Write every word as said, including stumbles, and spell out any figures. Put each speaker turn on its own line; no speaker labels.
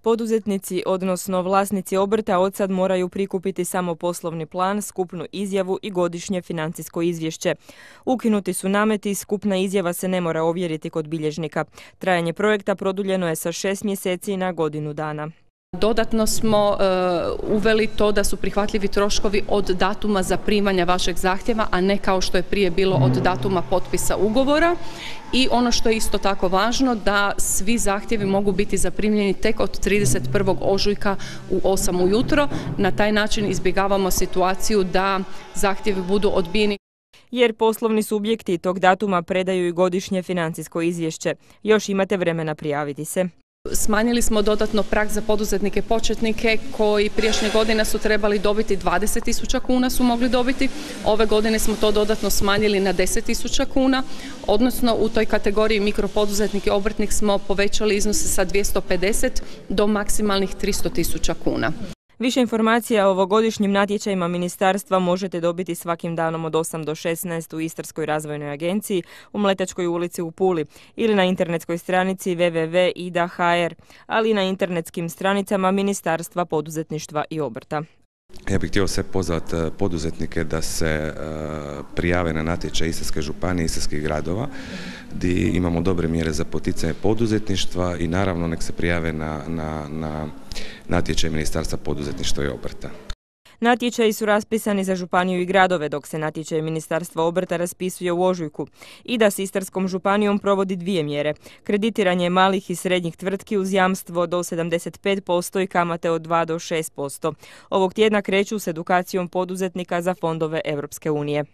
Poduzetnici, odnosno vlasnici obrta, od sad moraju prikupiti samo poslovni plan, skupnu izjavu i godišnje financijsko izvješće. Ukinuti su nameti, skupna izjava se ne mora ovjeriti kod bilježnika. Trajanje projekta produljeno je sa šest mjeseci na godinu dana.
Dodatno smo uh, uveli to da su prihvatljivi troškovi od datuma zaprimanja vašeg zahtjeva, a ne kao što je prije bilo od datuma potpisa ugovora. I ono što je isto tako važno, da svi zahtjevi mogu biti zaprimljeni tek od trideset prvog ožujka u osam ujutro. Na taj način izbjegavamo situaciju da zahtjevi budu odbijeni.
Jer poslovni subjekti tog datuma predaju i godišnje financijsko izvješće. Još imate vremena prijaviti se.
Smanjili smo dodatno prag za poduzetnike početnike koji prijašnje godine su trebali dobiti dvadeset tisuća kuna su mogli dobiti. Ove godine smo to dodatno smanjili na deset tisuća kuna, odnosno u toj kategoriji mikropoduzetnik i obrtnik smo povećali iznose sa dvjesto pedeset do maksimalnih tristo tisuća kuna.
Više informacija o ovogodišnjim natječajima ministarstva možete dobiti svakim danom od osam do šesnaest u Istarskoj razvojnoj agenciji u Mletačkoj ulici u Puli ili na internetskoj stranici w w w tačka i d a tačka h r, ali i na internetskim stranicama Ministarstva poduzetništva i obrta.
Ja bih htio sve pozvati poduzetnike da se prijave na natječaj Istarske županije i istarskih gradova, gdje imamo dobre mjere za poticanje poduzetništva i naravno nek se prijave na, na, na natječaj Ministarstva poduzetništva i obrta.
Natječaji su raspisani za županiju i gradove, dok se natječaj Ministarstva obrta raspisuje u ožujku. I da s Istarskom županijom provodi dvije mjere. Kreditiranje malih i srednjih tvrtki uz jamstvo do sedamdeset pet posto i kamate od dva do šest posto. Ovog tjedna kreću s edukacijom poduzetnika za fondove Europske unije.